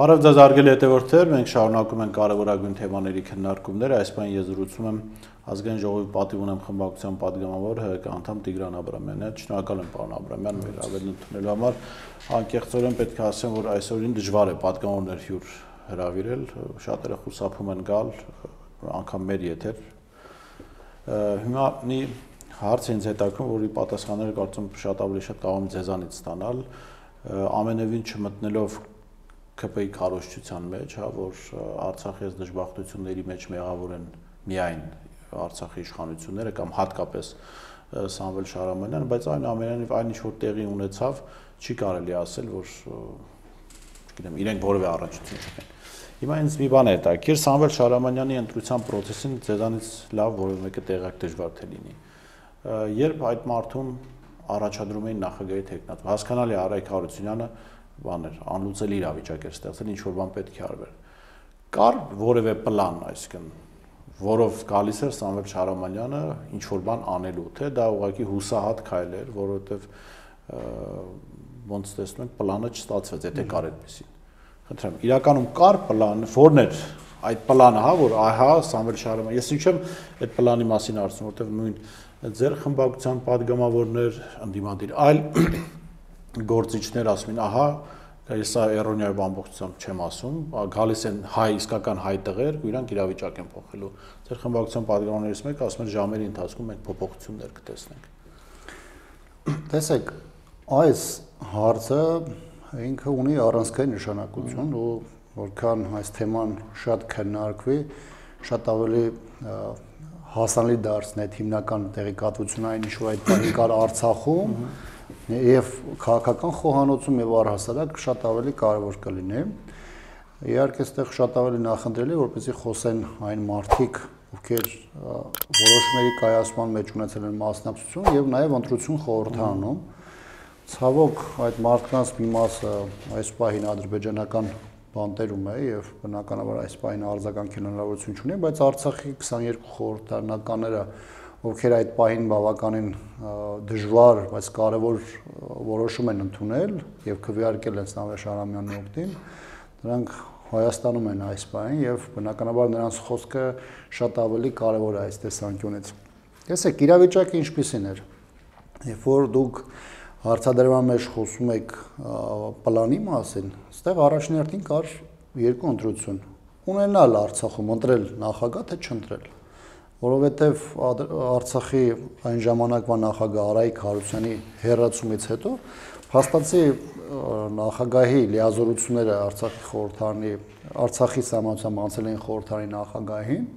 Բարև ձեզ հարգելի հետևորդներ, մենք շարունակում ենք կարևորագույն թեմաների քննարկումները, այս բան ես զրուցում եմ ազգային ժողովի պատիվ ունեմ խմբակցության պատգամավոր ՀԿ անդամ Տիգրան Աբրամյանի հետ, շնորհակալ եմ պարոն Աբրամյան, մեր ավելին ընդունելու համար, անկեղծորեն պետք է ասեմ, որ այսօրին դժվար է պատգամավորներ հյուր հրավիրել, շատերը խուսափում են գալ, անգամ մեր եթեր։ Հիմա մի հարց ինձ հետաքրքրում, որի պատասխանները կարծում եմ շատ ավելի շատ կարող եմ ձեզանից ստանալ, ամենևին չմտնելով ԿՊ-ի քարոզչության մեջ, հա, որ Արցախի այս դժբախտությունների մեջ մեղավոր են միայն Արցախի իշխանությունները կամ հատկապես Սամվել Շահրամանյանը, բայց այնուամենայնիվ այն ինչ որ տեղի ունեցավ, չի կարելի ասել, որ չգիտեմ, իրենք որևէ առնչություն չունեն։ Հիմա ինձ մի բան է հետաքրքիր, Սամվել Շահրամանյանի ընտրության process-ին ձեզանից լավ որևէ մեկը տեղյակ դժվար թե լինի։ Երբ այդ մարդուն առաջադրում էին նախագահի թեկնածու, հասկանալի է Արայք Հարությունյանը բաներ, անլուծելի իրավիճակ էր ստեղծել, ինչ որ բան պետք է արվեր։ Կար որևէ պլան, այսինքն, որով գալիս էր Սամվել Շահրամանյանը ինչ որ բան անելու, թե դա ուղղակի հուսահատ քայլ էր, որովհետև ոնց տեսնում ենք, պլանը չստացվեց, եթե կար այդպեսին։ Խնդրեմ, իրականում կար պլան, որն էր այդ պլանը, հա, որ ահա Սամվել Շահրամանյանը, ես ինչ եմ այդ պլանի մասին ասում, որովհետև նույն ձեր խմբակցության падգամավորներ, ընդդիմադիր այլ գործիչներ ասում են, ահա, ես սա էրոնիայով ամբողջությամբ չեմ ասում, գալիս են հայ, իսկական հայ տղեր, ու իրանք իրավիճակ են փոխելու։ Ձեր խմբակցության падգամավորներից մեկը ասում է ժամերի ընթացքում մենք փոփոխություններ կտեսնենք։ Տեսեք, այս հարցը ինքը ունի առանցքային նշանակություն, ու որքան այս թեման շատ քննարկվի, շատ ավելի հասանելի դարձնի այդ հիմնական տեղեկատվությունը, այն ինչ որ այդ բանի կար Արցախում եւ քաղաքական խոհանոցում եւ առհասարակ շատ ավելի կարեւոր կլինի։ Իհարկե, այստեղ շատ ավելի նախընտրելի է, որպեսզի խոսեն այն մարդիկ, ովքեր որոշումների կայացման մեջ ունեցել են մասնակցություն եւ նաեւ ընտրություն խորհրդանում։ Ցավոք, այդ մարդկանց մի մասը այս պահին ադրբեջանական բանտերում է եւ բնականաբար այս պահին արձագանքել հնարավորություն չունի, բայց Արցախի 22 խորհրդարանականները, ովքեր այդ պահին բավականին դժվար, բայց կարևոր որոշում են ընդունել եւ քվեարկել են Սամվել Շահրամանյանի օգտին, նրանք Հայաստանում են այս պահին եւ բնականաբար նրանց խոսքը շատ ավելի կարևոր է այս տեսանկյունից։ Տեսեք, իրավիճակը ինչպիսին էր։ Երբ որ դուք հարցադրման մեջ խոսում եք պլանի մասին, այստեղ առաջնահերթին կար երկու ընտրություն։ Ունենալ Արցախում ընտրել նախագահ, թե չընտրել։ Որովհետև Արցախի այն ժամանակվա նախագահ Արայք Հարությունյանի հեռացումից հետո փաստացի նախագահի լիազորությունները Արցախի խորհրդարանի, Արցախի սահմանությամբ անցել են խորհրդարանի նախագահին,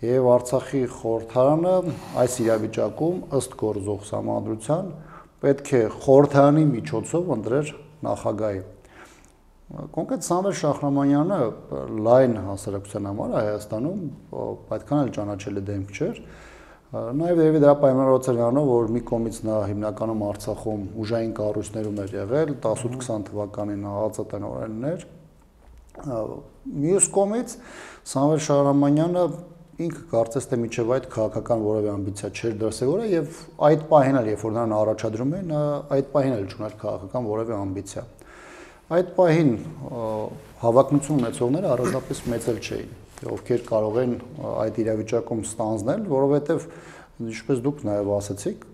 եւ Արցախի խորհրդարանը այս իրավիճակում ըստ գործող սահմանադրության պետք է խորհրդարանի միջոցով ընտրեր նախագահի։ Կոնկրետ Սամվել Շահրամանյանը լայն հասարակության համար Հայաստանում այդքան էլ ճանաչելի դեմք չէր։ Նաև երևի դրա պայմանավորված էր նրանով, որ մի կողմից նա հիմնականում Արցախում ուժային կառույցներում էր եղել, 18-20 թվականին ԱԱԾ-տնօրեններ։ Մյուս կողմից Սամվել Շահրամանյանը ինքը կարծես թե միջև այդ քաղաքական որևէ ամբիցիա չէր դրսևորել եւ այդ պահին էլ, երբ որ նրան առաջադրում էին, այդ պահին էլ չուներ քաղաքական որևէ ամբիցիա։ Այդ պահին հավակնություն ունեցողները առանձնապես մեծ էլ չէին, ովքեր կարող են այդ իրավիճակում ստանձնել, որովհետև ինչպես դուք նաև ասացիք,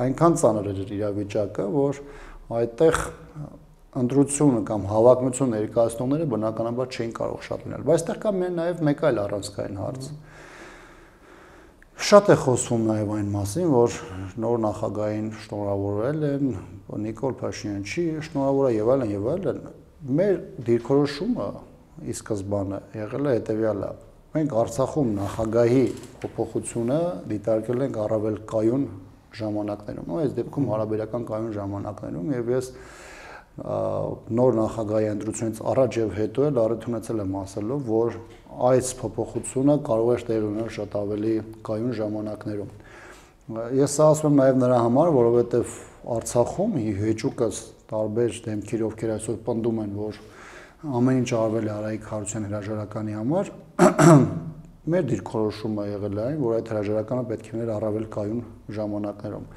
այնքան ծանր էր իրավիճակը, որ այդտեղ ընտրությունը կամ հավակնություն ներկայացնողները բնականաբար չէին կարող շատ լինել։ Բայց այդտեղ կա նաև մեկ այլ առանցքային հարց։ Շատ է խոսվում նաև այն մասին, որ նոր նախագահին շնորհավորել են, Նիկոլ Փաշինյանը չի շնորհավորել եւ այլն եւ այլն։ Մեր դիրքորոշումը ի սկզբանե եղել է հետեւյալը. մենք Արցախում նախագահի փոփոխությունը դիտարկել ենք առավել կայուն ժամանակներում, այս դեպքում հարաբերական կայուն ժամանակներում եւ ես նոր նախագահի ընտրությունից առաջ եւ հետո էլ առիթ եմ ասելով, որ այս փոփոխությունը կարող է տեղի ունենալ շատ ավելի կայուն ժամանակներում։ Ես սա ասում եմ նաև նրա համար, որովհետև Արցախում հեճուկս տարբեր դեմքեր, ովքեր այսօր պնդում են, որ ամեն ինչ արվել է Արայք Հարությունյանի հրաժարականի համար, մեր դիրքորոշումը եղել է այն, որ այդ հրաժարականը պետք է լիներ առավել կայուն ժամանակներում։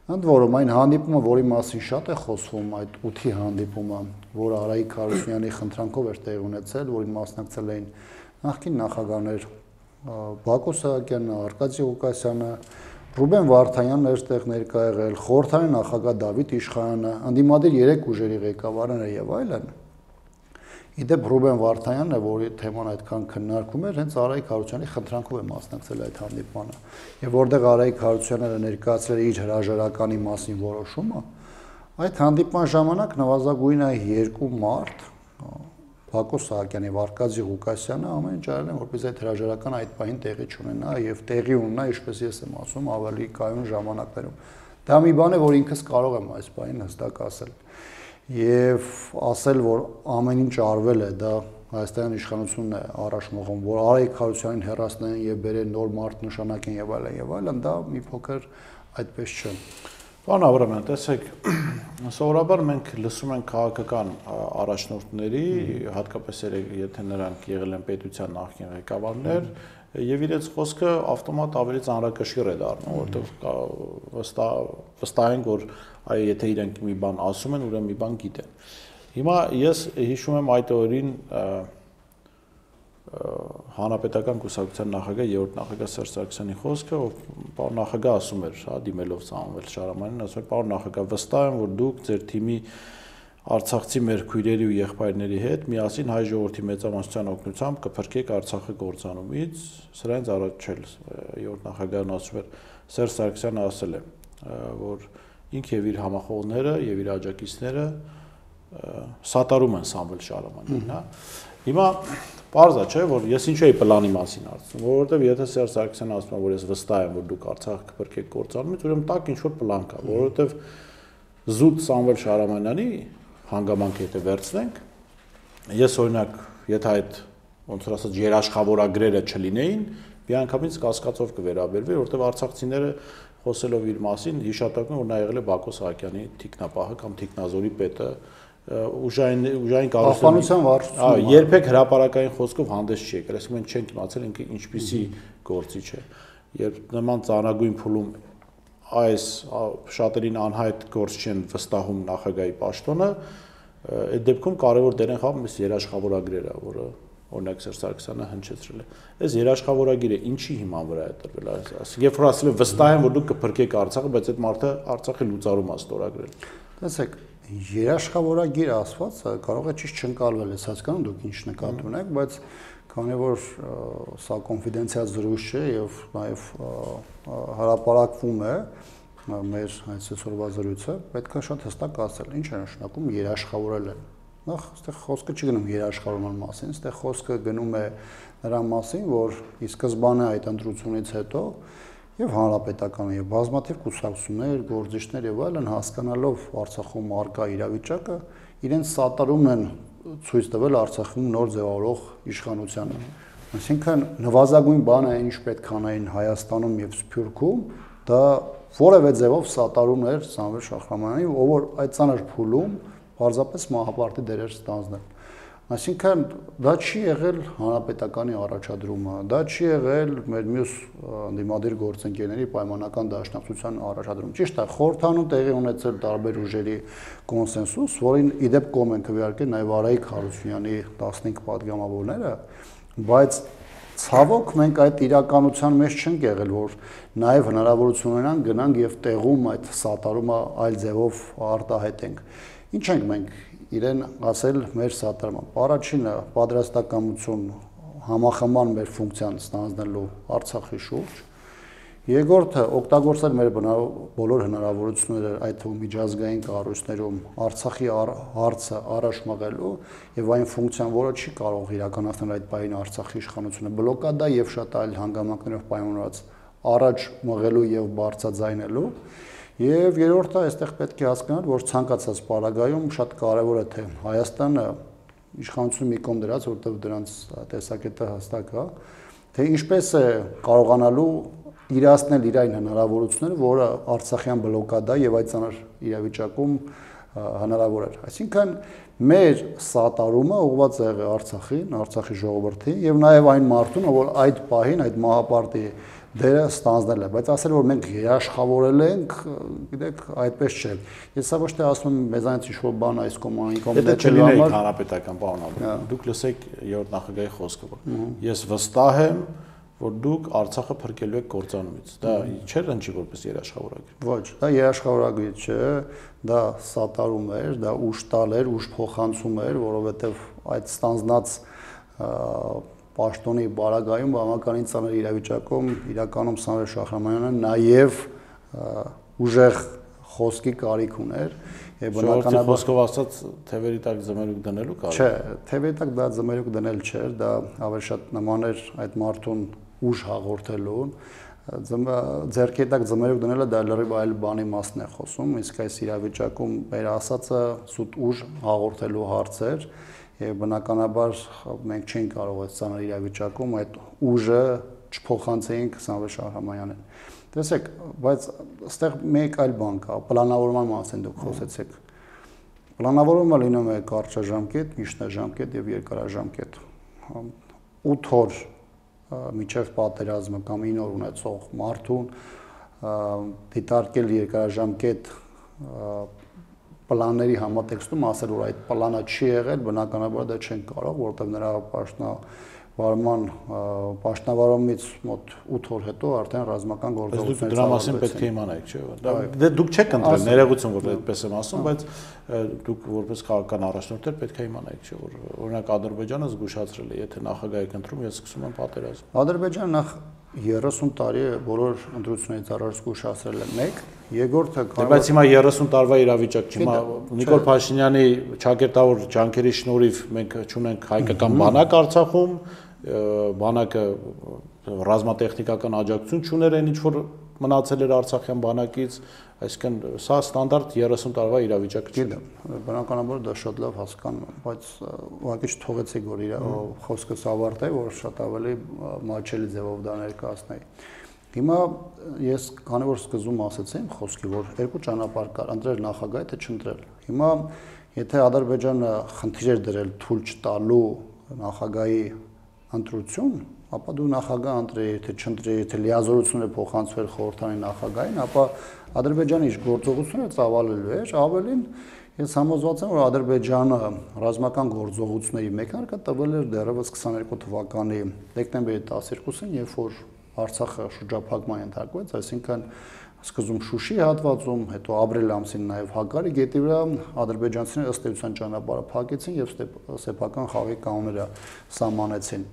Ընդ որում այն հանդիպումը, որի մասին շատ է խոսվում, այդ 8-ի հանդիպումը, որը Արայիկ Հարությունյանի խնդրանքով էր տեղի ունեցել, որին մասնակցել էին նախկին նախագահներ Բակո Սահակյանը, Արկադի Ղուկասյանը, Ռուբեն Վարդանյանն էր տեղ ներկա եղել, խորհրդարանի նախագահ Դավիթ Իշխանյանը, ընդդիմադիր 3 ուժերի ղեկավարները եւ այլն։ Իդեպ Ռուբեն Վարդանյանն է, որի թեման այդքան քննարկում էր, հենց Արայիկ Հարությունյանի խնդրանքով է մասնակցել այդ հանդիպմանը։ Եվ որտեղ Արայիկ Հարությունյանը ներկայացրել իր հրաժարականի մասին որոշումը, այդ հանդիպման ժամանակ նվազագույնը 2 մարդ Բակո Սահակյանը եւ Արկադի Ղուկասյանը ամեն ինչ արել են, որպես այդ հրաժարականը այդ պահին տեղի չունենա եւ տեղի ունենա, ինչպես ես եմ ասում, ավելի կայուն ժամանակներում։ Դա մի բան է, որ ինքս կարող եմ այս պահին հստակ ասել։ Եվ ասել, որ ամեն ինչ արվել է, դա Հայաստանի իշխանությունն է առաջ մղում, որ Արայիկ Հարությունյանին հեռացնեն եւ բերեն նոր մարդ նշանակեն եւ այլն, դա մի փոքր այդպես չէ։ Պարոն Աբրամյան, տեսեք, սովորաբար մենք լսում ենք քաղաքական առաջնորդների, հատկապես եթե նրանք եղել են պետության նախկին ղեկավարներ, եւ իրենց խոսքը ավտոմատ ավելի ծանրակշիռ է դառնում, որովհետեւ վստահ ենք, որ այ եթե իրենք մի բան ասում են, ուրեմն մի բան գիտեն։ Հիմա ես հիշում եմ այդ օրին Հանրապետական կուսակցության նախագահ, երրորդ նախագահ Սերժ Սարգսյանի խոսքը, ով պարոն նախագահ ասում էր, հա, դիմելով Սամվել Շարամանին, ասում էր, պարոն նախագահ, վստահ եմ, որ դուք ձեր թիմի արցախցի մեր քույրերի ու եղբայրների հետ միասին հայ ժողովրդի մեծամասնության օգնությամբ կփրկեք Արցախը կործանումից, սրանից առաջ չէ, երրորդ նախագահն ասում էր, Սերժ Սարգսյանը ասել է, որ ինք եւ իր համախոհները եւ իր աջակիցները սատարում են Սամվել Շարամանին, հա։ Հիմա պարզ է, չէ, որ ես ինչու էի պլանի մասին ասում, որովհետեւ եթե Սերժ Սարգսյանը ասում է, որ ես վստահ եմ, որ դուք Արցախը կփրկեք կործանումից, ուրեմն տակ ինչ որ պլան կա, որովհետեւ զուտ Սամվել Շարամանյանի հանգամանքը եթե վերցնենք, ես օրինակ, եթե այդ ոնց որ ասած երաշխավորագրերը չլինեին, միանգամից կասկածով կվերաբերվի, որովհետեւ արցախցիները խոսելով իր մասին հիշատակում են, որ նա եղել է Բակո Սահակյանի թիկնապահը կամ թիկնազորի պետը, ուժային կառույցության վարչությունը երբեք հրապարակային խոսքով հանդես չի եկել, այսինքն մենք չենք իմացել ինքը ինչպիսի գործիչ է։ Երբ նման ծանրագույն փուլում այս շատերին անհայտ գործ չեն վստահում նախագահի պաշտոնը, այդ դեպքում կարևոր դեր են խաղում այս երաշխավորագրերը, որը օրինակ Սերժ Սարգսյանը հնչեցրել է։ Այս երաշխավորագիրը ինչի հիման վրա է տրվել, այսինքն երբ որ ասել են վստահ եմ, որ դուք կփրկեք Արցախը, բայց այդ մարդը Արցախի լուծարում է ստորագրել։ Տեսեք, երաշխավորագիր ասվածը կարող է ճիշտ չընկալվել, ես հասկանում դուք ինչ նկատի ունեք, բայց քանի որ սա կոնֆիդենցիալ զրույց չէ եւ նաեւ հրապարակվում է մեր այսօրվա զրույցը, պետք է շատ հստակ ասել, ինչ է նշանակում երաշխավորել են։ Նախ այստեղ խոսքը չի գնում երաշխավորման մասին, այստեղ խոսքը գնում է նրա մասին, որ ի սկզբանե այդ ընտրությունից հետո եւ հանրապետականը եւ բազմաթիվ կուսակցություններ, գործիչներ եւ այլն հասկանալով Արցախում արկա իրավիճակը, իրենց սատարումն են ցույց տվել Արցախում նոր ձևավորող իշխանությանը։ Այսինքն նվազագույն բանը ինչ պետք անային Հայաստանում եւ Սփյուռքում, դա որևէ ձևով սատարում էր Սամվել Շահրամանյանին, ով որ այդ ծանր փուլում պարզապես մահապարտի դերեր ստանձնել։ Այսինքն դա չի եղել հանրապետականի առաջադրումը, դա չի եղել մեր մյուս դիմադիր գործընկերների պայմանական դաշնակցության առաջադրումը։ Ճիշտ է, խորհրդանում տեղի ունեցել տարբեր ուժերի կոնսենսուս, որին իդեպ կողմ են քվեարկել նաև Արայիկ Հարությունյանի 15 պատգամավորները, բայց ցավոք մենք այդ իրականության մեջ չենք եղել, որ նաև հնարավորություն ունենան գնանք եւ տեղում այդ սատարումը այլ ձևով արտահայտենք։ Ինչ ենք մենք իրեն ասել մեր սատարման։ Առաջինը պատրաստակամություն համախմբան մեր ֆունկցիան ստանձնելու Արցախի շուրջ։ Երկրորդը օգտագործել մեր բոլոր հնարավորությունները այդ թվում միջազգային կառույցներում Արցախի հարցը առաջ մղելու եւ այն ֆունկցիան, որը չի կարող իրականացնել այդ բային Արցախի իշխանությունը բլոկադա եւ շատ այլ հանգամանքներով պայմանավորված առաջ մղելու եւ բարձրաձայնելու։ Եվ երրորդը այստեղ պետք է հասկանալ, որ ցանկացած պարագայում շատ կարևոր է թե Հայաստանը իշխանությունը մի կողմ դրած, որտեղ դրանց տեսակետը հստակ է, թե ինչպես է կարողանալու իրացնել իր այն հնարավորությունները, որը Արցախյան բլոկադա եւ այդ ցաներ իրավիճակում հնարավոր էր։ Այսինքն մեր սատարումը ուղղված է եղել Արցախին, Արցախի ժողովրդին եւ նաեւ այն մարդուն, որ այդ պահին այդ մահապարտի դերը ստանձնել է, բայց ասել որ մենք երաշխավորել ենք, գիտեք, այդպես չէ։ Ես սա ոչ թե ասում եմ մեզանից ինչ-որ բան այս կոմանի կոմիտեի համար հանրապետական պարոն Աբրամյան, դուք լսեք երրորդ նախագահի խոսքը, որ ես վստահ եմ, որ դուք Արցախը փրկելու եք կործանումից։ Դա չէր ընչի որպես երաշխավորագիր։ Ոչ, դա երաշխավորագիր չէ, դա սատարում էր, դա ուժ տալ էր, ուժ փոխանցում էր, որովհետև այդ ստանձնած պաշտոնի բարագայում բավականին ծանր իրավիճակում իրականում Սամվել Շահրամանյանը նաև ուժեղ խոսքի կարիք ուներ եւ բնականաբար խոսքով ասած թևերի տակ զմերուկ դնելու կարիք։ Չէ, թևերի տակ դա զմերուկ դնել չէր, դա ավելի շատ նման էր այդ մարդուն ուժ հաղորդելուն, ձեռքի տակ զմերուկ դնելը դա լրիվ այլ բանի մասն է խոսում, իսկ այս իրավիճակում մեր ասածը սուտ ուժ հաղորդելու հարց էր եւ բնականաբար մենք չենք կարող այս ցաներ իրավիճակում այդ ուժը չփոխանցեինք Սամվել Շահրամանյանին։ Տեսեք, բայց այստեղ մեկ այլ բան կա, պլանավորման մասին դուք խոսեցիք։ Պլանավորումը լինում է կարճաժամկետ, միջնաժամկետ եւ երկարաժամկետ։ 8 օր միջև պատերազմը կամ 9 օր ունեցող մարդուն դիտարկել երկարաժամկետ պլանների համատեքստում ասել որ այդ պլանը չի եղել, բնականաբար դա չեն կարող, որովհետև նրա պաշտոնավարումից մոտ 8 օր հետո արդեն ռազմական գործողություններ դրա մասին պետք է իմանայիք, չէ՞։ Դե դուք չեք ընտրել ներողություն, որ այդպես եմ ասում, բայց դուք որպես քաղաքական առաջնորդներ պետք է իմանայիք, չէ՞, որ օրինակ Ադրբեջանը զգուշացրել է, եթե նախագահ ընտրում, ես սկսում եմ պատերազմ։ Ադրբեջանը նախ 30 տարի է բոլոր ընտրություններից առաջ զգուշացրել է մեկ, երկրորդը կարող է բայց հիմա 30 տարվա իրավիճակ չի, հիմա Նիկոլ Փաշինյանի ճակերտավոր ջանքերի շնորհիվ մենք ունենք հայկական բանակ Արցախում, բանակը ռազմատեխնիկական աջակցություն չուներ այն ինչ որ մնացել էր Արցախյան բանակից, այսինքն սա ստանդարտ 30 տարվա իրավիճակ չի։ Բնականաբար դա շատ լավ հասկանում եմ, բայց ուղղակի չթողեցեք որ իր խոսքս ավարտի, որ շատ ավելի մաչելի ձևով դա ներկայացնեի։ Հիմա ես քանի որ սկզբում ասացի իմ խոսքի, որ երկու ճանապարհ կար, ընտրել նախագահ, թե չընտրել։ Հիմա եթե Ադրբեջանը խնդիր էր դրել թույլ չտալու նախագահի ընտրություն, ապա դու նախագահ ընտրեի, թե չընտրեի, թե լիազորությունները փոխանցվել խորհրդանի նախագահին, ապա Ադրբեջանի իր գործողությունները ծավալելու էր, ավելին ես համոզված եմ, որ Ադրբեջանը ռազմական գործողությունների մեկնարկը տվել էր դեռևս 22 թվականի դեկտեմբերի 12-ին, երբ որ Արցախը շրջափակման ենթարկվեց, այսինքն սկզբում Շուշի հատվածում, հետո ապրիլ ամսին նաև Հակարի գետի վրա ադրբեջանցիները ըստ էության ճանապարհը փակեցին եւ սեփական խաղի կանոնները սահմանեցին։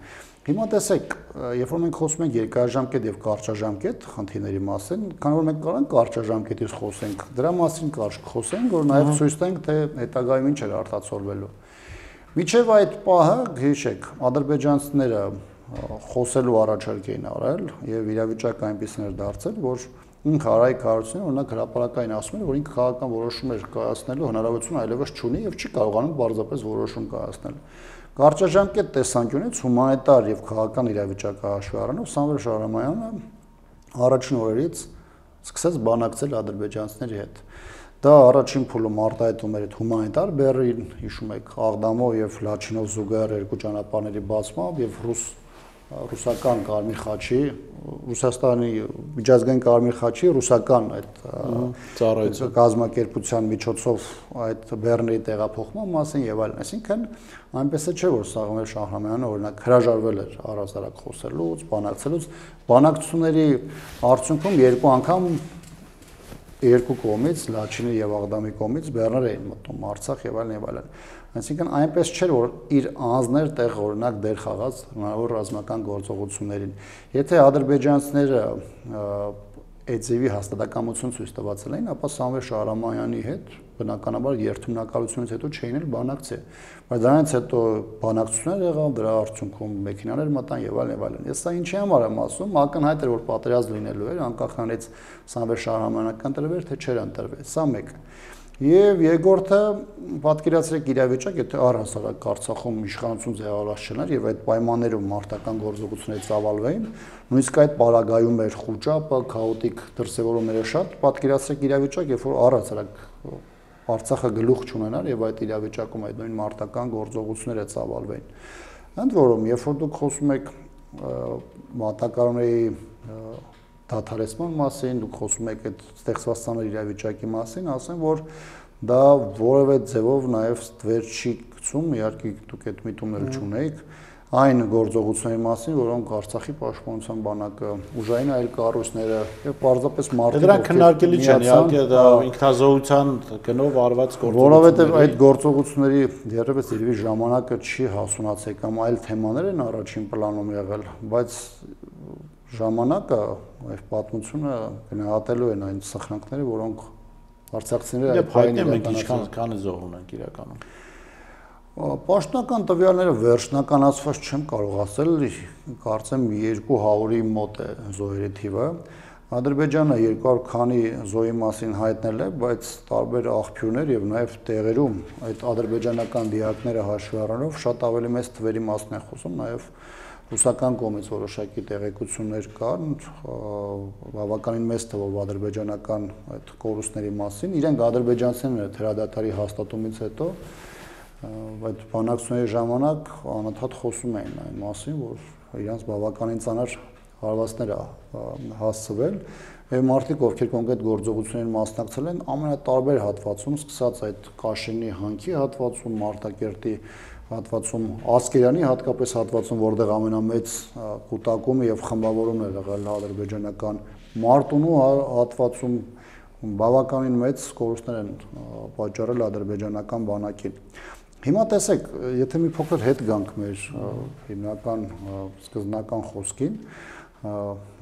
Հիմա տեսեք, երբ որ մենք խոսում ենք երկարաժամկետ եւ կարճաժամկետ խնդիրների մասին, քանի որ մենք կարող ենք կարճաժամկետից խոսենք, դրա մասին կարճ խոսենք, որ նաև ցույց տանք, թե հետագայում ինչ էր արտացոլվելու։ Միջև այդ պահը, հիշեք, ադրբեջանցիները խոսելու առաջարկ էին արել եւ իրավիճակը այնպեսին էր դարձել, որ ինքը Արայիկ Հարությունյանը օրինակ հրապարակային ասում էր, որ ինքը քաղաքական որոշումներ կայացնելու հնարավորություն այլևս չունի եւ չի կարողանում բարձրապես որոշում կայացնել։ Կարճաժամկետ տեսանկյունից հումանիտար եւ քաղաքական իրավիճակը հաշվի առնելով Սամվել Շահրամանյանը առաջին օրերից սկսեց բանակցել ադրբեջանցիների հետ։ Դա առաջին փուլում արտահայտում էր այդ հումանիտար բեռին, հիշում եք, Աղդամով եւ Լաչինով զուգահեռ երկու ճանապարհների բացմամբ եւ ռուսական Կարմիր խաչի, Ռուսաստանի միջազգային Կարմիր խաչի ռուսական այդ կազմակերպության միջոցով այդ բեռների տեղափոխման մասին եւ այլն, այսինքն այնպես չէ որ Սամվել Շահրամանյանը օրինակ հրաժարվել էր առհասարակ խոսելուց, բանակցելուց, բանակցությունների արդյունքում երկու անգամ երկու կողմից Լաչինի եւ Աղդամի կողմից բեռներ էին մտնում Արցախ եւ այլն եւ այլն։ Այսինքն այնպես չէր որ իր անձներ տեղ օրինակ դեր խաղաց հնարավոր ռազմական գործողություններին։ Եթե ադրբեջանցիները Էձևի հաստատակամություն ցույց տվացել էին, ապա Սամվել Շահրամանյանի հետ բնականաբար երթունակալությունից հետո չէին էլ բանակցի։ Բայց դրանից հետո բանակցություններ եղավ, դրա արդյունքում մեքենաներ մտան եւ այլն եւ այլն։ Ես սա ինչի համար եմ ասում, ակնհայտ էր որ պատերազմ լինելու էր, անկախ նրանից Սամվել Շահրամանյանը կընտրվեր թե չէր ընտրվեր։ Սա մեկը։ Եվ երկրորդը պատկերացրեք իրավիճակ, եթե առհասարակ Արցախում իշխանություն ձևավորված չներ եւ այդ պայմաններում մարտական գործողությունները ծավալվեին, նույնիսկ այդ պարագայում էր խոճապը, քաոտիկ դրսևորումները շատ, պատկերացրեք իրավիճակ, երբ որ առհասարակ Արցախը գլուխ չունենար եւ այդ իրավիճակում այդ նույն մարտական գործողությունները ծավալվեին։ Ընդ որում, երբ որ դուք խոսում եք մատակարարների դադարեցման մասին, դուք խոսում եք այդ ստեղծված ցաներ իրավիճակի մասին, ասեմ, որ դա որևէ ձևով նաև ստվեր չի գցում, իհարկե դուք այդ միտումները չունեիք, այն գործողությունների մասին, որոնք Արցախի պաշտպանության բանակը, ուժային այլ կառույցները եւ պարզապես մարդիկ դրանք քննարկելի չեն, իհարկե դա ինքնազոհության գնով արված գործողություններ, որովհետեւ այդ գործողությունների դեռևս իրավի ժամանակը չի հասունացել կամ այլ թեմաներ են առաջին պլանում եղել, բայց ժամանակը այլ պատմությունը գնահատելու են այն սխրանքները, որոնք արցախցիները այդ հայտնել մենք ինչքան զոհուն ենք իրականում։ Պաշտոնական տվյալները վերջնականացված չեմ կարող ասել, կարծեմ 200-ի մոտ է զոհերի թիվը։ Ադրբեջանը 200 քանի զոհի մասին հայտնել է, բայց տարբեր աղբյուրներ եւ նաեւ տեղերում այդ ադրբեջանական դիակները հաշվի առնելով շատ ավելի մեծ թվերի մասն է խոսում, նաեւ ռուսական կողմից որոշակի տեղեկություններ կան, բավականին մեծ թվով ադրբեջանական այդ կորուստների մասին, իրենք ադրբեջանցիները թերադատարի հաստատումից հետո այդ բանակցությունների ժամանակ անընդհատ խոսում էին այն մասին, որ իրանց բավականին ծանր հարվածներ է հասցվել եւ մարդիկ, ովքեր կոնկրետ գործողություններին մասնակցել են, ամենատարբեր հատվածում, սկսած այդ Կաշինի հանքի հատվածում, Մարտակերտի հատվածում, Ասկերանի հատկապես հատվածում, որտեղ ամենամեծ կուտակումը եւ խմբավորումն է եղել ադրբեջանական Մարտունու հատվածում բավականին մեծ կորուստներ են պատճառել ադրբեջանական բանակին։ Հիմա տեսեք, եթե մի փոքր հետ գանք մեր հիմնական սկզբնական խոսքին,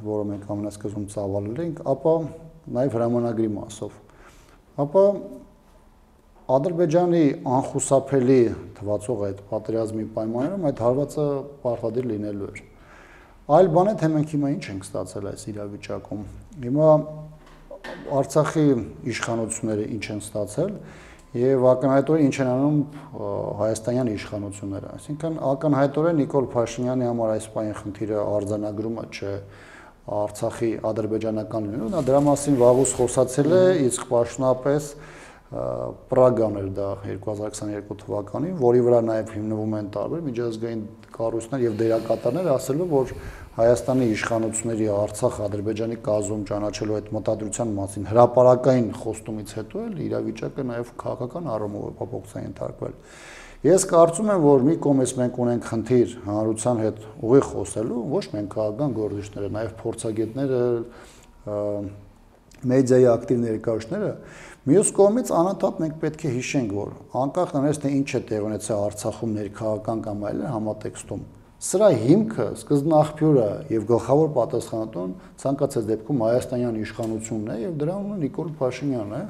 որը մենք ամենասկզբում ծավալել ենք, ապա նաև հրամանագրի մասով, ապա Ադրբեջանի անխուսափելի թվացող այդ պատերազմի պայմաններում այդ հարվածը պարտադիր լինելու էր։ Այլ բան է, թե մենք հիմա ինչ ենք ստացել այս իրավիճակում։ Հիմա Արցախի իշխանությունները ինչ են ստացել եւ ակնհայտորեն ինչ են անում հայաստանյան իշխանությունները, այսինքն ակնհայտորեն Նիկոլ Փաշինյանի համար այս պայն խնդիրը արձանագրումը չէ Արցախի ադրբեջանական լինելու, նա դրա մասին վաղուց խոսացել է, իսկ պաշտոնապես Պրագան էր դա 2022 թվականին, որի վրա նաև հիմնվում են տարբեր միջազգային կառույցներ եւ դերակատարներ, ասելով, որ Հայաստանի իշխանությունների Արցախ Ադրբեջանի կազմում ճանաչելու այդ մտադրության մասին հրապարակային խոստումից հետո էլ իրավիճակը նաև քաղաքական առումով է փոփոխության ենթարկվել։ Ես կարծում եմ, որ մի կողմից մենք ունենք խնդիր հանրության հետ ուղիղ խոսելու, ոչ միայն քաղաքական գործիչները, նաև փորձագետները, մեդիայի ակտիվ ներկայացուցիչները, մյուս կողմից անընդհատ մենք պետք է հիշենք, որ անկախ նրանից թե ինչ է տեղ ունեցել Արցախում ներքաղաքական կամ այլն համատեքստում, սրա հիմքը, սկզբնաղբյուրը եւ գլխավոր պատասխանատուն ցանկացած դեպքում հայաստանյան իշխանությունն է եւ դրա անունը Նիկոլ Փաշինյանն է,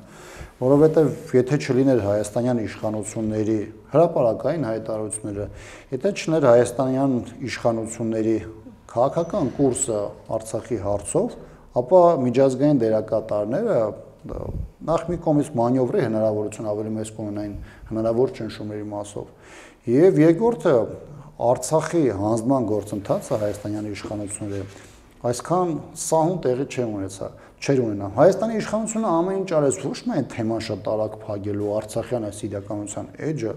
որովհետեւ եթե չլիներ հայաստանյան իշխանությունների հրապարակային հայտարարությունները, եթե չլիներ հայաստանյան իշխանությունների քաղաքական կուրսը Արցախի հարցով, ապա միջազգային դերակատարները նախ մի կողմից մանյովրի հնարավորություն ավելի մեծ կունենային հնարավոր ճնշումների մասով եւ երկրորդը Արցախի հանձնման գործընթացը հայաստանյան իշխանությունները այսքան սահուն տեղի չէր ունենա։ Հայաստանի իշխանությունը ամեն ինչ արեց ոչ միայն թեման շատ արագ փակելու արցախյան այս իրականության էջը,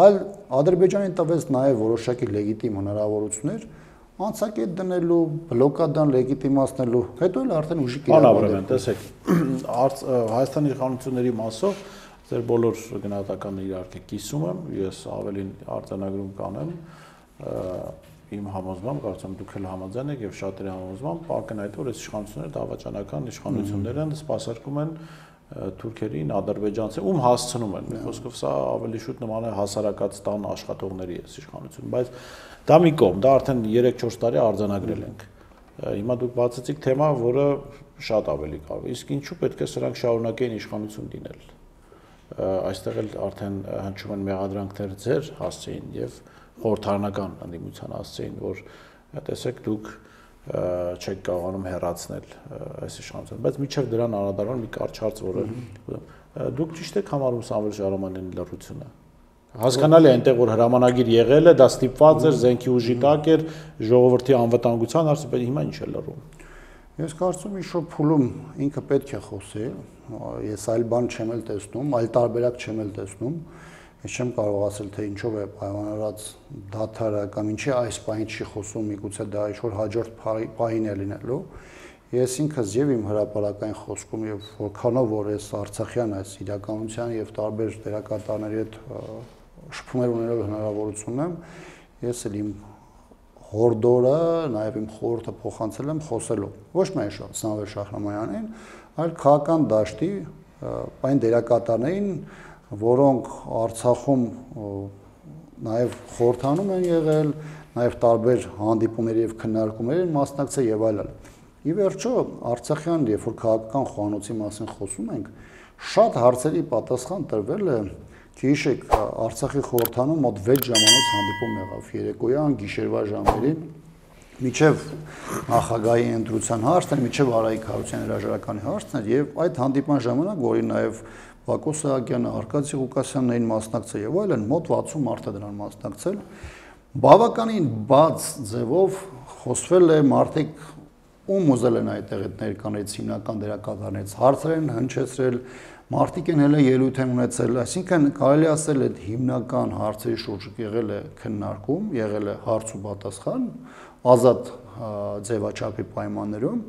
այլ Ադրբեջանին տվեց նաեւ որոշակի լեգիտիմ հնարավորություններ անցակետ դնելու, բլոկադան լեգիտիմացնելու, հետո էլ արդեն ուժի կիրառել։ Տեսեք, Հայաստանի իշխանությունների մասով ձեր բոլոր գնահատականները իհարկե կիսում եմ, ես ավելին արձանագրում կանեմ, իմ համոզմամբ, կարծում դուք էլ համաձայն եք եւ շատերի համոզմամբ, ակնհայտ որ այս իշխանությունները դավաճանական իշխանություններ են, սպասարկում են թուրքերին, ադրբեջանցի, ում հասցնում են։ Մի խոսքով սա ավելի շուտ նման է հասարակական աշխատողների այս իշխանություն, բայց դա մի կողմ, դա արդեն 3-4 տարի արձանագրել ենք։ Հիմա դուք բացեցիք թեմա, որը շատ ավելի կարևոր է։ Իսկ ինչու պետք է սրանք շարունակեն իշխանություն լինել։ Այստեղ էլ արդեն հնչում են մեղադրանքներ ձեր հասցեին եւ խորհրդարանական ընդդիմության հասցեին, որ տեսեք դուք չեք կարողանում հեռացնել այս իշխանությունը, բայց միջև դրան անդրադառնալ մի կարճ հարց, որը դուք ճիշտ եք համարում Սամվել Շահրամանյանի լռությունը։ Հասկանալի է այնտեղ որ հրամանագիր եղել է, դա ստիպված էր, զենքի ուժի տակ էր, ժողովրդի անվտանգության հարցը, բայց հիմա ինչ է լռում։ Ես կարծում եմ ինչ-որ փուլում ինքը պետք է խոսի, ես այլ բան չեմ էլ տեսնում, այլ տարբերակ չեմ էլ տեսնում։ Ես չեմ կարող ասել, թե ինչով է պայմանավորված դադարը կամ ինչի այս պահին չի խոսում, միգուցե դա ինչ-որ հաջորդ պահին է լինելու։ Ես ինքս եւ իմ հրապարակային խոսքում եւ որքանով որ ես Արցախյան այս իրականության եւ տարբեր դերակատարների հետ շփումներ ունենալու հնարավորություն եմ, ես էլ իմ հորդորը, նաեւ իմ խորհուրդը փոխանցել եմ խոսելու։ Ոչ միայն Սամվել Շահրամանյանին, այլ քաղաքական դաշտի այն դերակատարներին, որոնք Արցախում նաեւ խորհրդանում են եղել, նաեւ տարբեր հանդիպումների եւ քննարկումների մասնակցել եւ այլն։ Ի վերջո, Արցախյան, երբ որ քաղաքական խոհանոցի մասին խոսում ենք, շատ հարցերի պատասխան տրվել է, գիշեք Արցախի խորհրդանում մոտ 6 ժամանոց հանդիպում եղավ երեկոյան, գիշերվա ժամերին, միջև նախագահի ընտրության հարցն էր, միջև Արայիկ Հարությունյանի հրաժարականի հարցն էր, եւ այդ հանդիպման ժամանակ, որին նաեւ Բակո Սահակյանը, Արկադի Ղուկասյանն էին մասնակցել եւ այլն, մոտ 60 մարդ է դրան մասնակցել, բավականին բաց ձևով խոսվել է մարդիկ ում ուզել են այդտեղ ներկաներից հիմնական դերակատարներից հարցեր են հնչեցրել, մարդիկ են հենց ելույթ են ունեցել, այսինքն կարելի ասել այդ հիմնական հարցերի շուրջ եղել է քննարկում, եղել է հարց ու պատասխան, ազատ ձևաչափի պայմաններում,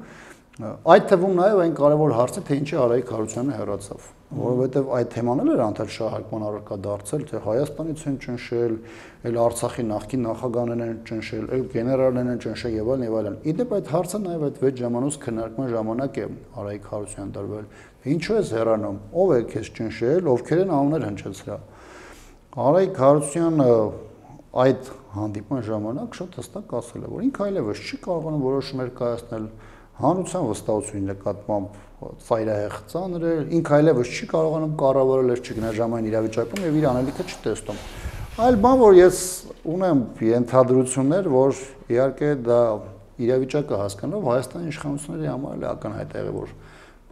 այդ թվում նաև այն կարևոր հարցը, թե ինչի Արայիկ Հարությունյանը հեռացավ, որովհետև այդ թեման էլ էր անդադար շահարկման առարկա դարձել, թե Հայաստանից են ճնշել, էլ Արցախի նախկին նախագահներն են ճնշել, էլ գեներալներն են ճնշել եւ այլն։ Իդեպ այդ հարցը նաև այդ 6 ժամանոց քննարկման ժամանակ է Արայիկ Հարությունյան դրվել։ Ինչու է հեռանում, ով է քեզ ճնշել, ովքեր են անուններ հնչեցրել։ Արայիկ Հարությունյանը այդ հանդիպման ժամանակ շատ հստակ ասել է, որ ինքը այլևս չի կարողանում որոշումներ կայացնել հանրության վստահությունի նկատմամբ ծայրահեղ ծանր է, ինքը այլևս չի կարողանում կառավարել այս ճգնաժամային իրավիճակում եւ իր անելիքը չի տեսնում։ Այլ բան, որ ես ունեմ ենթադրություններ, որ իհարկե դա իրավիճակը հասկանալով Հայաստանի իշխանությունների համար էլ ակնհայտ է, որ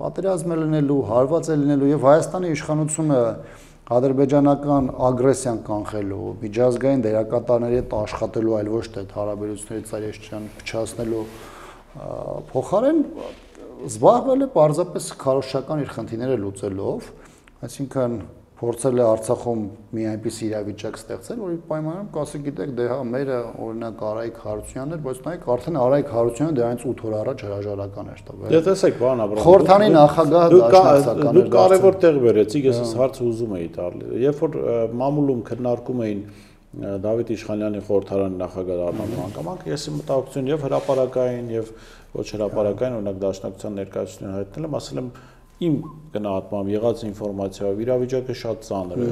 պատերազմ է լինելու, հարված է լինելու եւ Հայաստանի իշխանությունը ադրբեջանական ագրեսիան կանխելու, միջազգային դերակատարների հետ աշխատելու, այլ ոչ թե հարաբերությունների ծայրահեղության փչացնելու փոխարեն զբաղվել է պարզապես քարոզչական իր խնդիրները լուծելով, այսինքն փորձել է Արցախում մի այնպիսի իրավիճակ ստեղծել, որի պայմաններում կասի գիտեք, դե հա մերը օրինակ Արայիկ Հարությունյանն էր, բայց նայեք արդեն Արայիկ Հարությունյանը դրանից 8 օր առաջ հրաժարական էր տվել։ Դե տեսեք, պարոն Աբրահամյան, խորհրդանի նախագահը դաշնակցական էր։ Դուք կարևոր տեղ վերեցիք, ես այս հարցը ուզում էի տալ։ Երբ որ մամուլում քննարկում էին Դավիթ Իշխանյանի խորհրդարանի նախագահ դառնալու հանգամանքը, ես իմ մտահոգություն եւ հրապարակային եւ ոչ հրապարակային օրինակ դաշնակցության ներկայացուցիչներին հայտնել եմ, ասել եմ իմ գնահատմամբ եղած ինֆորմացիայով իրավիճակը շատ ծանր է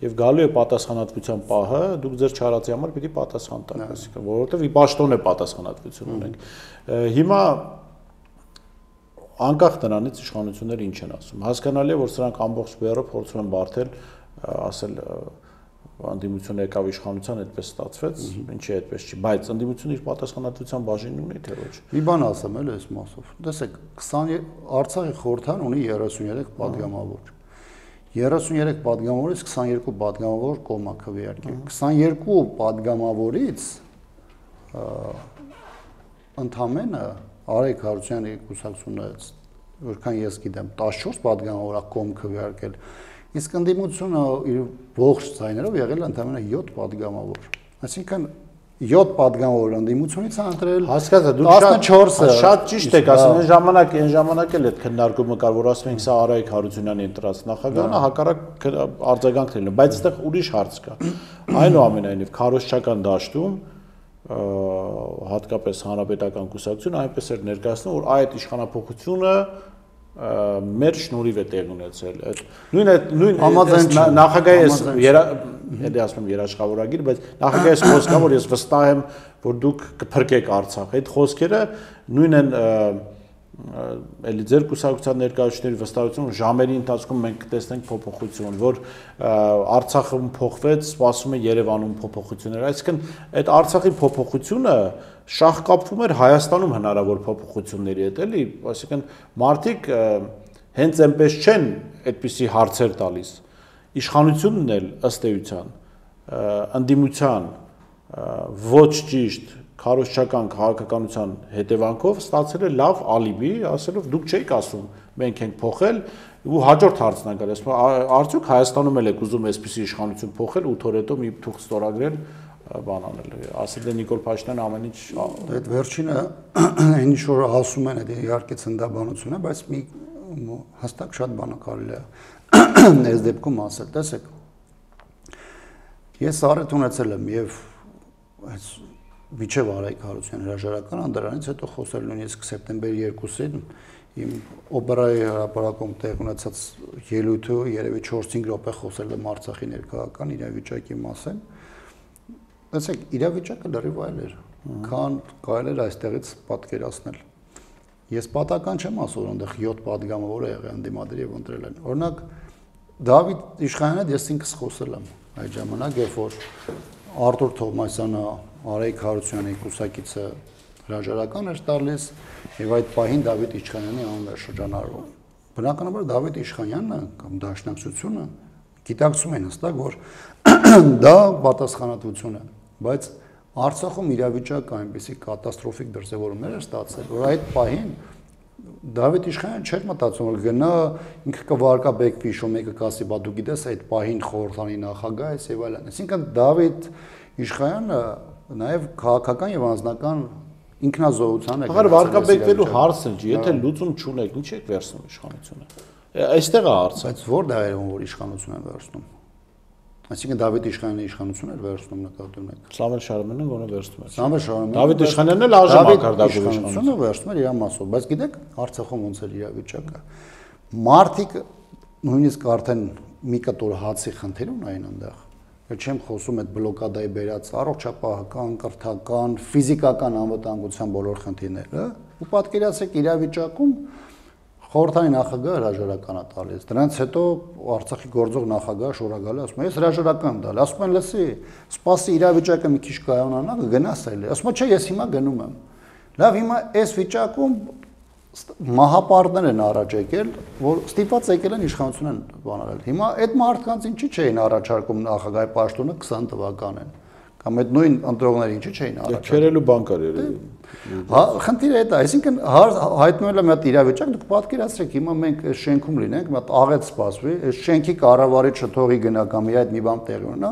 եւ գալու է պատասխանատվության պահը, դուք ձեր չարածի համար պիտի պատասխան տաք, այսինքն որովհետեւ ի պաշտոն է պատասխանատվություն ունենք։ Հիմա անկախ նրանից իշխանությունները ինչ են ասում, հասկանալի է, որ սրանք ամբողջ բեռը փորձում են բարթել, ասել ընդդիմությունը եկավ իշխանության, այդպես ստացվեց, ինչի այդպես չի, բայց ընդդիմությունը իր պատասխանատվության բաժինն ունի, թե ոչ։ Մի բան ասեմ էլ այս մասով։ Տեսեք, Արցախի խորհրդան ունի 33 падգամավոր։ 33 падգամավորից 22 падգամավոր կողմա քվեարկել։ 22 падգամավորից ընդամենը Արայիկ Հարությունյանի կուսակցությունը, որքան ես գիտեմ, 14 падգամավոր կողմ քվեարկել։ Իսկ ընդդիմությունը իր ողջ ձայներով եղել է ընդամենը 7 падգամավոր։ Այսինքն 7 падգամավոր ընդդիմությունից է ընտրել, հասկացա, դուք 14-ը շատ ճիշտ եք ասում, այն ժամանակ էլ այդ քննարկումը կար, որ ասում ենք սա Արայիկ Հարությունյանի ընտրած նախագահն է, հակառակ արձագանք լինել, բայց այստեղ ուրիշ հարց կա։ Այնուամենայնիվ քարոզչական դաշտում հատկապես հանրապետական կուսակցությունը այնպես էր ներկայացնում, որ այդ իշխանափոխությունը մեր շնորհիվ է տեղ ունեցել։ Նույն նախագահի էլի ասում եմ երաշխավորագիր, բայց նախագահի խոսքա, որ ես վստահ եմ, որ դուք կփրկեք Արցախը։ Այդ խոսքերը նույն են էլի ձեր կուսակցության ներկայացուցիչների վստահություն, ժամերի ընթացքում մենք կտեսնենք փոփոխություն, որ Արցախում փոխվեց, սպասում է Երևանում փոփոխություններ։ Այսինքն այդ Արցախի փոփոխությունը շահկապվում էր Հայաստանում հնարավոր փոփոխությունների հետ, էլի, այսինքն մարդիկ հենց այնպես չեն այդպիսի հարցեր տալիս։ Իշխանությունն էլ ըստ էության ընդդիմության ոչ ճիշտ քարոզչական քաղաքականության հետևանքով ստացել է լավ ալիբի, ասելով դուք չեք ասում, մենք ենք փոխել, Ու հաջորդ հարցն է գալիս, արդյոք Հայաստանում էլ եք ուզում այսպիսի իշխանություն փոխել 8 օր հետո մի թուղթ ստորագրել, բան անել։ Ասել է Նիկոլ Փաշինյանը ամեն ինչ այդ վերջինը ինչ որ ասում են, դա իհարկե ցնդաբանություն է, բայց մի հստակ շատ բան կարելի է այս դեպքում ասել, տեսեք։ Ես առիթ ունեցել եմ եւ այս միջև Արայք Հարությունյանի հրաժարականը, դրանից հետո խոսել նույնիսկ սեպտեմբերի 2-ին իմ օպերայի հրապարակում տեղ ունեցած ելույթը երևի 4-5 րոպե խոսել եմ Արցախի ներկայական իրավիճակի մասին։ Տեսեք, իրավիճակը լրիվ այլ էր, քան կարելի էր այստեղից պատկերացնել։ Ես պատական չեմ ասում, այնտեղ 7 падգամավոր եղել են դիմադրել եւ ընտրել են։ Օրինակ Դավիթ Իշխանյանը ես ինքս խոսել եմ այդ ժամանակ, երբ որ Արտուր Թովմասյանը Արայք Հարությունյանի կուսակիցը հրաժարական էր տալիս եւ այդ պահին Դավիթ Իշխանյանի անունն էր շրջանառվում։ Բնականաբար Դավիթ Իշխանյանը կամ Դաշնակցությունը գիտակցում են հստակ, որ դա պատասխանատվություն է, բայց Արցախում իրավիճակը այնպեսի կատաստրոֆիկ դրսևորումներ էր ստացել, որ այդ պահին Դավիթ Իշխանյանը չէր մտածում, որ գնա ինքը կվարկաբեկվի, շո մեկը կասի, բա դու գիտես այդ պահին խորհրդանի նախագահ է եւ այլն։ Այսինքն Դավիթ Իշխանյանը նաև քաղաքական եւ անձնական ինքնազոհության է։ Ահա վարկաբեկվելու հարցն չի, եթե լուծում չունեք, ինչ եք վերցնում իշխանությունը։ Այստեղ է հարցը։ Բայց որ դայերում որ իշխանություն են վերցնում։ Այսինքն Դավիթ Իշխանյանը իշխանություն էր վերցնում նկատի ունեք։ Սամվել Շարոյանն գոնե վերցնում էր։ Սամվել Շարոյանն Դավիթ Իշխանյանն էլ ԱԺ մակարդակով իշխանությունը վերցնում էր իր մասով, բայց գիտեք Արցախում ոնց էր իրավիճակը։ Մարտիկ նույնիսկ արդեն մի կտոր հացի խնդիր ունային այնտեղ։ Չեմ խոսում այդ բլոկադայի բերած առողջապահական, կրթական, ֆիզիկական անվտանգության բոլոր խնդիրները, ու պատկերացրեք իրավիճակում խորհրդանի նախագահը հրաժարական է տալիս։ Դրանից հետո Արցախի գործող նախագահը շորագալի ասում է, ես հրաժարական տալ, ասում են, լսի, սպասի իրավիճակը մի քիչ կայանանա, կգնաս այլ։ Ասում է, չէ, ես հիմա գնում եմ։ Լավ, հիմա այս վիճակում մահապարտներ են առաջ եկել, որ ստիպված եկել են իշխանություն են բանարել։ Հիմա այդ մարդկանց ինչի չէին առաջարկում նախագահի պաշտոնը 20 թվականին, կամ այդ նույն ընտրողները ինչի չէին առաջարկում։ Քերելու բան կար երևի։ Հա, խնդիրը դա է, այսինքն հայտնվել է մի հատ իրավիճակ, դուք պատկերացրեք, հիմա մենք այս շենքում լինենք, մի հատ աղետ սպասվի, այս շենքի կառավարիչը թողի գնա կամ իր այդ մի բան տեղի ունենա։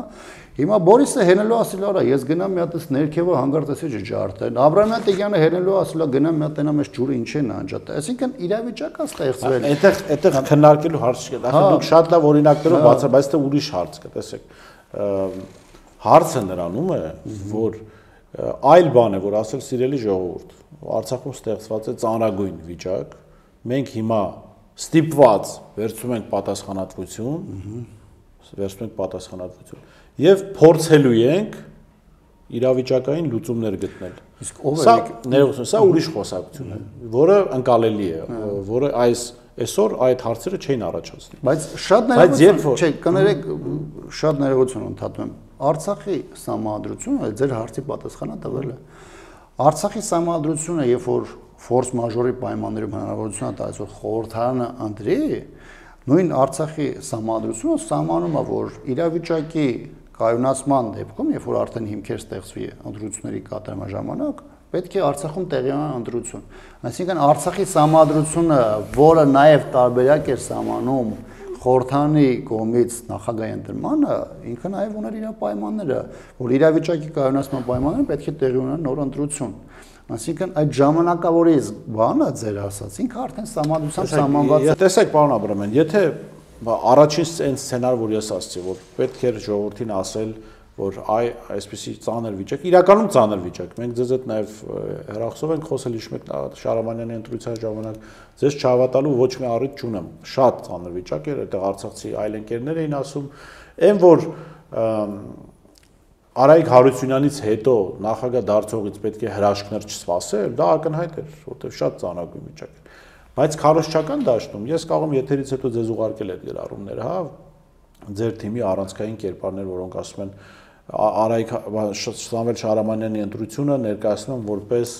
Հիմա Բորիսը հենելու ասել արա, ես գնամ մի հատ ներքևը հանգարտեսի ջարդեն։ Աբրահամ Տիգյանը հենելու ասել գնամ մի հատ տենամ այս ջուրը ինչ են անջատ։ Այսինքն իրավիճակը ստեղծվել։ Այդտեղ քննարկելու հարց չկա։ Ախր դուք շատ լավ օրինակներով բացա, բայց դա ուրիշ հարց կա, տեսեք։ Հարցը նրանում է, որ այլ բան է, որ ասել սիրելի ժողովուրդ, Արցախում ստեղծված է ծանրագույն վիճակ, մենք հիմա ստիպված վերցնում ենք պատասխանատվություն եւ փորձելու ենք իրավիճակային լուծումներ գտնել։ Իսկ ով է սա ներողություն, սա ուրիշ խոսակցություն է, որը ընկալելի է, որը այսօր այդ հարցերը չէին առաջացնի։ Բայց շատ ներողություն, չէ, կներեք, շատ ներողություն ընդհատում եմ։ Արցախի սահմանադրությունը ձեր հարցի պատասխանը տվել է։ Արցախի սահմանադրությունը, երբ որ ֆորս մաժորի պայմաններում հնարավորություն է տալիս, որ խորհրդարանը ընտրի, նույն Արցախի սահմանադրությունը սահմանում է, որ իրավիճակի կայունացման դեպքում, երբ որ արդեն հիմքեր ստեղծվի ընտրությունների կատարման ժամանակ, պետք է Արցախում տեղի ունենա ընտրություն։ Այսինքն Արցախի սահմանադրությունը, որը նաև տարբերակ էր սահմանում խորհրդանի կողմից նախագահի ընտրմանը, ինքը նաև ուներ իր պայմանները, որ իրավիճակի կայունացման պայմանները պետք է տեղի ունենա նոր ընտրություն։ Այսինքն այդ ժամանակավորի բանը ձեր ասած, ինքը արդեն սահմանադրությամբ սահմանված է։ Տեսեք, պարոն Աբրամյան, եթե առաջին այն սցենարը, որ ես ասացի, որ պետք էր ժողովրդին ասել, որ այսպեսի ծանր վիճակ, իրականում ծանր վիճակ։ Մենք ձեզ հետ նաև հեռախոսով ենք խոսել, հիշում եք Շարամանյանի ընտրության ժամանակ, ձեզ չհավատալու ոչ մի առիթ չունեմ։ Շատ ծանր վիճակ էր, այդտեղ արցախցի այլ ընկերներ էին ասում, այն որ Արայք Հարությունյանից հետո նախագահ դարձողից պետք է հրաշքներ չսպասել, դա ակնհայտ էր, որտեղ շատ ծանրագույն վիճակ էր։ Բայց քարոզչական դաշտում ես կարող եմ եթերից հետո ձեզ ուղարկել այդ գրառումները, հա, ձեր թիմի առանցքային կերպարներ, որոնք ասում են Արայք Սամվել Շահրամանյանի ընտրությունը ներկայացնում որպես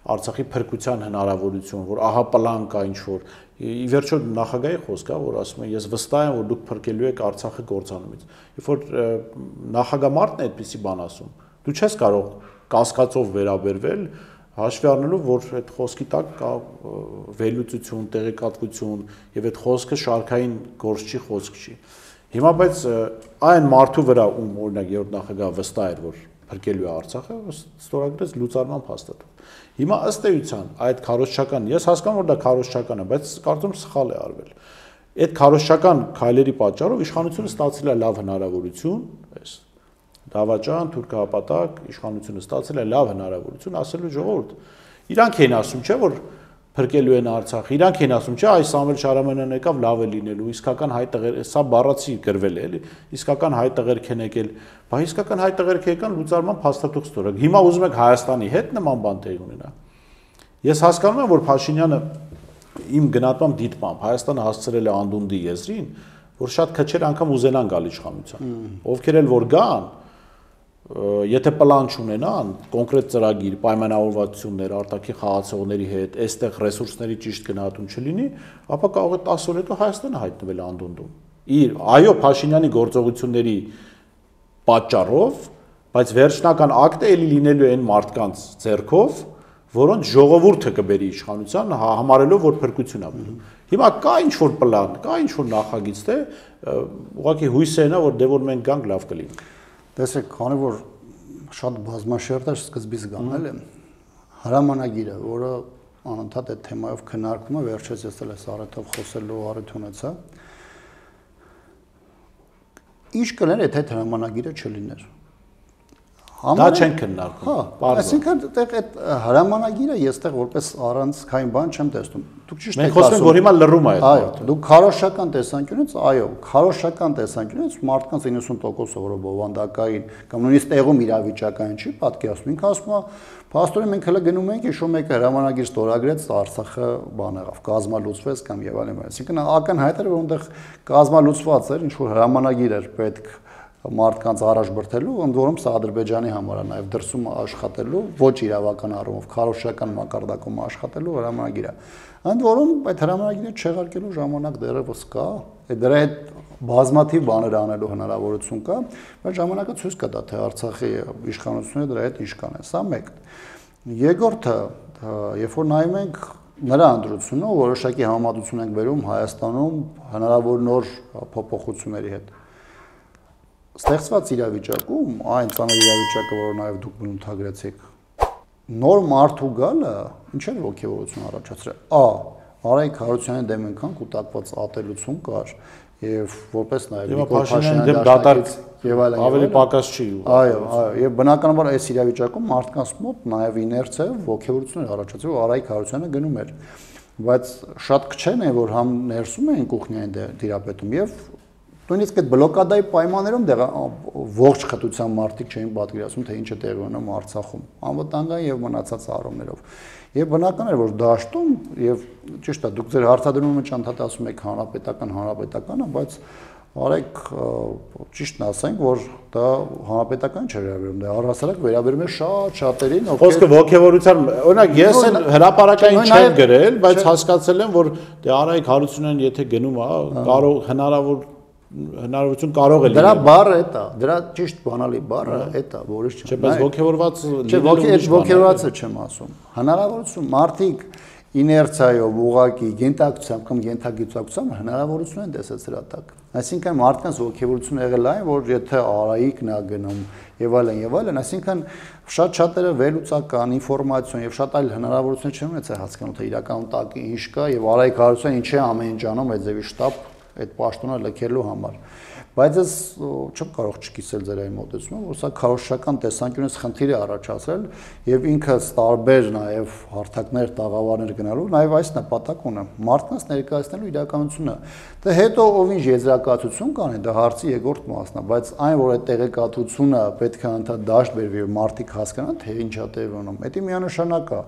Արցախի փրկության հնարավորություն, որ ահա պլան կա ինչ-որ։ Ի վերջո նախագահի խոսք է, որ ասում է ես վստահ եմ, որ դուք փրկելու եք Արցախը կործանումից։ Երբ որ նախագահ Մարտն է այդպիսի բան ասում, դու չես կարող կասկածով վերաբերվել հաշվի առնելով, որ այդ խոսքի տակ կա վերլուծություն, տեղեկատվություն եւ այդ խոսքը շարքային գործ չի, խոսք չի։ Հիմա բայց այն մարդու վրա ում օրինակ երրորդ նախագահը վստահ էր, որ փրկելու է Արցախը, ստորագրեց լուծարման փաստաթուղթ։ Հիմա ըստ էության այդ քարոզչական, ես հասկանում որ դա քարոզչական է, բայց կարծում սխալ է արվել։ Այդ քարոզչական քայլերի պատճառով իշխանությունը ստացել է լավ հնարավորություն, այս դավաճան, թուրքահապատակ իշխանությունը ստացել է լավ հնարավորություն ասելու ժողովուրդ։ Իրանք էին ասում, չէ՞ որ փրկելու են Արցախը։ Իրանք էին ասում, չէ, այս Սամվել Շարամանյանն եկավ լավ է լինելու, իսկական հայ տղեր, սա բառացի գրվել է, էլի, իսկական հայ տղերք են եկել, բայց իսկական հայ տղերք եկան լուծարման փաստաթուղթ ստորագրել։ Հիմա ուզում եք Հայաստանի հետ նման բան տեղի ունենա։ Ես հասկանում եմ, որ Փաշինյանը իմ գնահատմամբ դիտմամբ Հայաստանը հասցրել է անդունդի եզրին, որ շատ քչեր անգամ ուզենան գալ իշխանության։ Ովքեր էլ որ գան, եթե պլան չունենան, կոնկրետ ծրագիր, պայմանավորվածություններ արտաքին խաղացողների հետ, այստեղ ռեսուրսների ճիշտ գնահատում չլինի, ապա կարող է 10 օր հետո Հայաստանը հայտնվել անդունդում։ Այո, Փաշինյանի գործողությունների պատճառով, բայց վերջնական ակտը էլի լինելու է այն մարդկանց ձեռքով, որոնց ժողովուրդը կբերի իշխանության, համարելով որ փրկություն է բերում։ Հիմա կա ինչ-որ պլան, կա ինչ-որ նախագիծ, թե ուղղակի հույսը նա որ դե որ մենք գանք լավ կլինի։ Տեսեք, քանի որ շատ բազմաշերտ է սկզբից գանել է, հրամանագիրը, որը անընդհատ այդ թեմայով քննարկվում է, վերջերս ես էլ Սարեթով խոսելու առիթ ունեցա։ Ինչ կներ, եթե այդ հրամանագիրը չլիներ։ Դա չեն քննարկում։ Հա, այսինքն այդ հրամանագիրը ես տեղ որպես առանցքային բան չեմ տեսնում։ Դուք ճիշտ եք ասում։ Մենք խոսում ենք, որ հիմա լռում է այդ այո, դուք քարոշչական տեսանկյունից, այո, քարոշչական տեսանկյունից մարդկանց 90%-ը որը բովանդակային կամ նույնիսկ տեղում իրավիճակային չի պատկերացնում։ Ինքը ասում է, փաստորեն մենք հələ գնում ենք, հիշում եք հրամանագիր ստորագրեց, Արցախը բան եղավ, կազմալուծվեց կամ եւ այլն։ Այսինքն ակնհայտ էր, որ այնտեղ կազմալուծված էր, ինչ որ հրամանագիր էր պետք մարդկանց առաջ բրթելու, ընդ որում սա Ադրբեջանի համար է նաև դրսում աշխատելու, ոչ իրավական առումով, քարոզչական մակարդակում աշխատելու հրամանագիր է։ Ընդ որում այդ հրամանագիրը չեղարկելու ժամանակ դեռևս կա, դրա հետ բազմաթիվ բաներ անելու հնարավորություն կա, բայց ժամանակը ցույց կտա, թե Արցախի իշխանությունը դրա հետ ինչ կանեն։ Սա մեկ։ Երկրորդը, երբ որ նայում ենք նրա ընտրությունը, որոշակի համեմատություն ենք բերում Հայաստանում հնարավոր նոր փոփոխությունների հետ։ Ստեղծված իրավիճակում, այն ծանր իրավիճակը, որը նաև դուք բնութագրեցիք, նոր մարդու գալը ինչ-որ ոգևորություն առաջացրել։ Արայիկ Հարությունյանի դեմ այնքան կուտակված ատելություն կար, եւ որպես նաև Նիկոլ Փաշինյանի դեմ դատարկ եւ այլն ավելի պակաս չի։ Այո, եւ բնականաբար այս իրավիճակում մարդկանց մոտ նաև իներցիա ոգևորություն էր առաջացել, որ Արայիկ Հարությունյանը գնում էր, բայց շատ քչեն է, որ համ ներսում էին կուխնյային դիրապետում եւ նույնիսկ այդ բլոկադայի պայմաններում ողջ խտության մարդիկ չէին պատկերացնում, թե ինչ է տեղի ունենում Արցախում, անվտանգային եւ մնացած առումներով։ Եվ բնական էր, որ դաշտում եւ ճիշտ է, դուք ձեր հարցադրումը ճանաչած ասում եք հանրապետականը, բայց արեք ճիշտն ասենք, որ դա հանրապետական չէ վերաբերում, դա առհասարակ վերաբերում է շատ-շատերին, Խոսքը ոգևորության, օրինակ ես էլ հրապարակային չեմ գրել, բայց հասկացել եմ, որ դե Արայիկ Հարությունյանն եթե գնում է, կարող հնարավորություն կարող է լինել։ Դրա բառը է դա, դրա ճիշտ բանալի բառը է դա, որից չեմ։ Չէ, բայց ոգևորված ոգևորվածը չեմ ասում։ Հնարավորություն մարդիկ իներցիայով ուղակի գենտակցությամբ կամ գենտագիտակցությամբ հնարավորություն են տեսել սրա տակ։ Այսինքն մարդկանց ոգևորությունը եղել այն, որ եթե Արայիկն է գնում եւ այլն, այսինքն շատ-շատերը վերլուծական ինֆորմացիոն եւ շատ այլ հնարավորություններ չեն ունեցել հասկանալ, թե իրականում տակի ինչ կա եւ Արայիկ Հարությունյանը ինչ է ամեն ինչ անում այդ ձևի շտաբ այդ պաշտոնը լքելու համար։ Բայց ես չեմ կարող չկիսել ձեր այն մոտեցումը, որ սա քարոզչական տեսանկյունից խնդիր է առաջացրել եւ ինքը տարբեր նաեւ հարթակներ, տաղավարներ գնալու նաեւ այս նպատակ ունի մարդկանց ներկայացնելու իրականությունը։ Դե հետո ով ինչ եզրակացություն կանի, դա հարցի երկրորդ մասն է, բայց այն որ այդ տեղեկատվությունը պետք է անդադ դաշտ բերվի եւ մարդիկ հասկանան, թե ինչ է տեղի ունենում, դա միանշանակ է։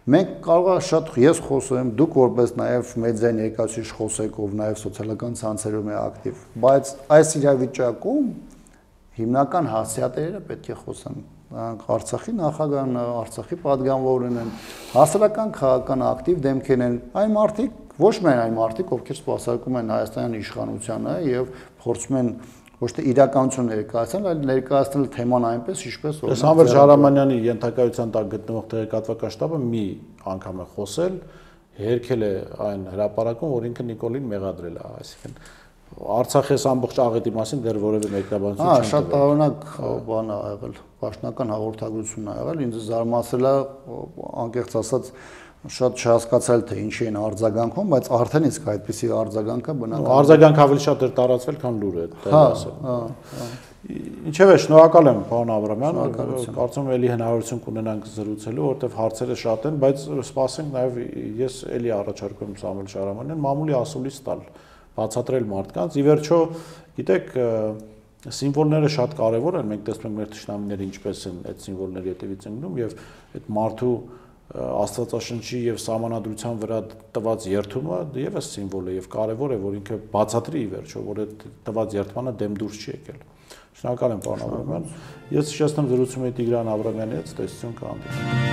Մենք կարող է շատ ես խոսեմ, դուք որպես նաև մեդիայի ներկայացուցիչ խոսեք, ով նաև սոցիալական ցանցերում է ակտիվ, բայց այս իրավիճակում հիմնական հասցեատերերը պետք է խոսեն։ Արցախի նախագահն, Արցախի падգամավորն են, հասարակական քաղաքական ակտիվ դեմքեր են, այն մարդիկ, ոչ միայն այն մարդիկ, ովքեր սպասարկում են Հայաստանյան իշխանությանը եւ փորձում են ոչ թե իրականություն ներկայացնել, այլ ներկայացնել թեման այնպես, ինչպես օրինակ Սամվել Շահրամանյանի ենթակայության տակ գտնվող տեղեկատվական շտաբը մի անգամ է խոսել, հերքել է այն հրապարակում, որ ինքը Նիկոլին մեղադրել է, այսինքն Արցախի ամբողջ աղետի մասին դեռ որևէ մեկնաբանություն չեն տվել։ Շատ տարօրինակ բան ա եղել, պաշտոնական հաղորդագրություն ա եղել, ինձ զարմացել է, անկեղծ ասած, շատ չհասկացալ թե ինչի են արձագանքում, բայց արդեն իսկ այդպիսի արձագանքը բնական։ Արձագանքը ավելի շատ էր տարածվել, քան լուրը, դա ասեմ։ Ինչևէ, շնորհակալ եմ, պարոն Աբրամյան, կարծում եմ էլի հնարավորություն կունենանք զրուցելու, որովհետև հարցերը շատ են, բայց սպասենք նաև ես էլի առաջարկում եմ Սամվել Շահրամանյանին մամուլի ասուլիս տալ, բացատրել մարդկանց։ Ի վերջո, գիտեք, սիմվոլները շատ կարևոր են, մենք տեսնում ենք մեր թշնամիները ինչպես են այդ սիմվոլների հետևից ընկնում եւ այդ մարդու Աստվածաշնչի եւ սահմանադրության վրա տված երթումը եւս սիմվոլ է եւ կարեւոր է, որ ինքը բացատրի ի վերջո, որ այդ տված երթմանը դեմ դուրս չի եկել։ Շնորհակալ եմ, պարոն Աբրամյան։ Ես հիշեցնում զրուցում էի Տիգրան Աբրամյանի հետ, տեսություն կհանդիպենք։